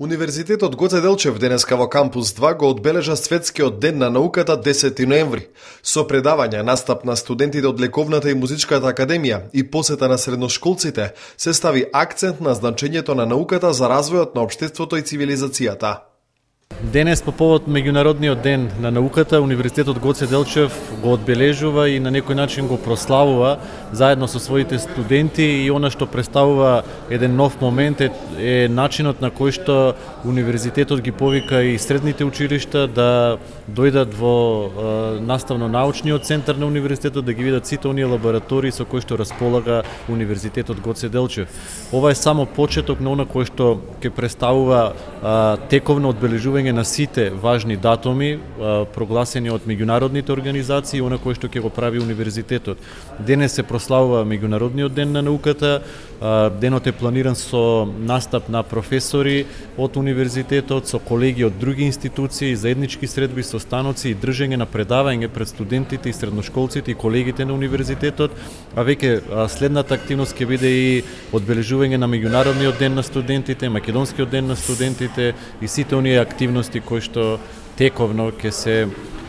Универзитетот Гоце Делчев денеска во кампус 2 го одбележа Светскиот ден на науката 10 ноември, со предавања, настап на студентите од Лековната и Музичката академија и посета на средношколците, се стави акцент на значењето на науката за развојот на општеството и цивилизацијата. Денес по повод меѓународниот ден на науката, Универзитетот Гоце Делчев го одбележува и на некој начин го прославува заедно со своите студенти, и она што представува еден нов момент е начинот на кој што Универзитетот ги повика и средните училишта да дојдат во наставно-научниот центар на Универзитетот, да ги видат сите оние лаборатории со кои што располага Универзитетот Гоце Делчев. Ова е само почеток на она кој што ќе представува тековно одбележување на сите важни датуми прогласени од меѓународните организации, она кој што ќе го прави универзитетот. Денес се прославува меѓународниот ден на науката. Денот е планиран со настап на професори од универзитетот, со колеги од други институции, заеднички средби, состаноци и држење на предавање пред студентите и средношколците и колегите на универзитетот, а веќе следната активност ќе биде и одбележување на меѓународниот ден на студентите, македонскиот ден на студентите и сите оние активности кои што тековно ќе се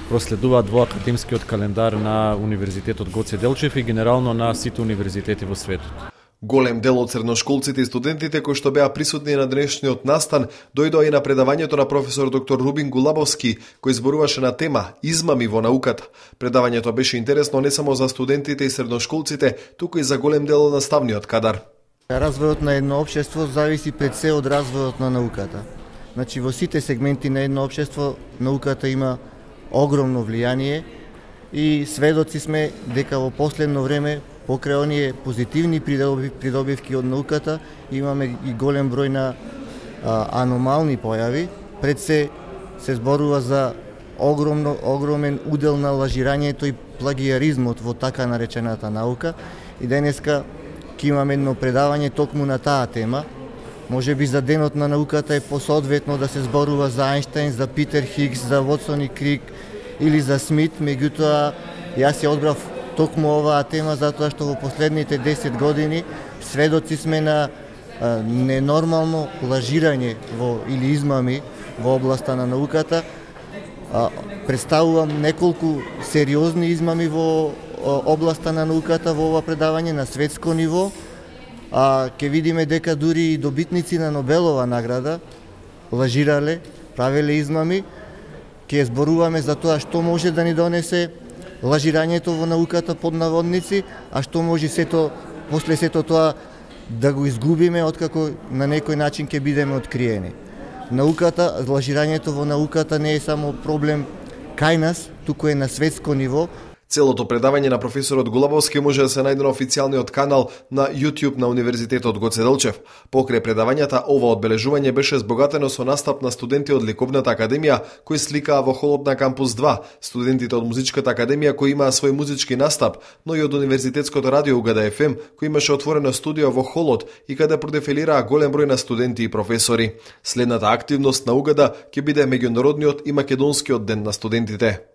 проследуваат во академскиот календар на Универзитетот Гоце Делчев и генерално на сите универзитети во светот. Голем дел од средношколците и студентите кои што беа присутни на денешниот настан дојдоа и на предавањето на професор доктор Рубин Гулабовски, кој зборуваше на тема измами во науката. Предавањето беше интересно не само за студентите и средношколците, туку и за голем дел од наставниот кадар. Развојот на едно општество зависи пред се од развојот на науката. Значи во сите сегменти на едно општество науката има огромно влијание и сведоци сме дека во последно време покрај оние позитивни придобивки од науката имаме и голем број на аномални појави. Пред се зборува за огромен удел на лажирањето и плагиаризмот во така наречената наука, и денеска ќе имаме едно предавање токму на таа тема. Може би за денот на науката е посоодветно да се зборува за Ајнштајн, за Питер Хигс, за Вотсон и Крик или за Смит, меѓутоа јас ја одбрав токму оваа тема затоа што во последните 10 години сведоци сме на ненормално лажирање или измами во областа на науката. Представувам неколку сериозни измами во областа на науката во ова предавање на светско ниво. Ќе видиме дека дури и добитници на Нобелова награда лажирале, правеле измами. Ќе зборуваме за тоа што може да ни донесе лажирањето во науката под наводници, а што може после сето тоа да го изгубиме откако на некој начин ќе бидеме откриени. Лажирањето во науката не е само проблем кај нас, туку е на светско ниво. Целото предавање на професорот Гулабовски може да се најде на официјалниот канал на YouTube на Универзитетот Гоце Делчев. Покрај предавањата, ова одбележување беше збогатено со настап на студенти од Лековната академија кои сликаа во холот на кампус 2, студентите од Музичката академија кои имаа свој музички настап, но и од Универзитетското радио Угада FM кој имаше отворено студио во холот и каде продефилираа голем број на студенти и професори. Следната активност на Угада ќе биде меѓународниот и македонскиот ден на студентите.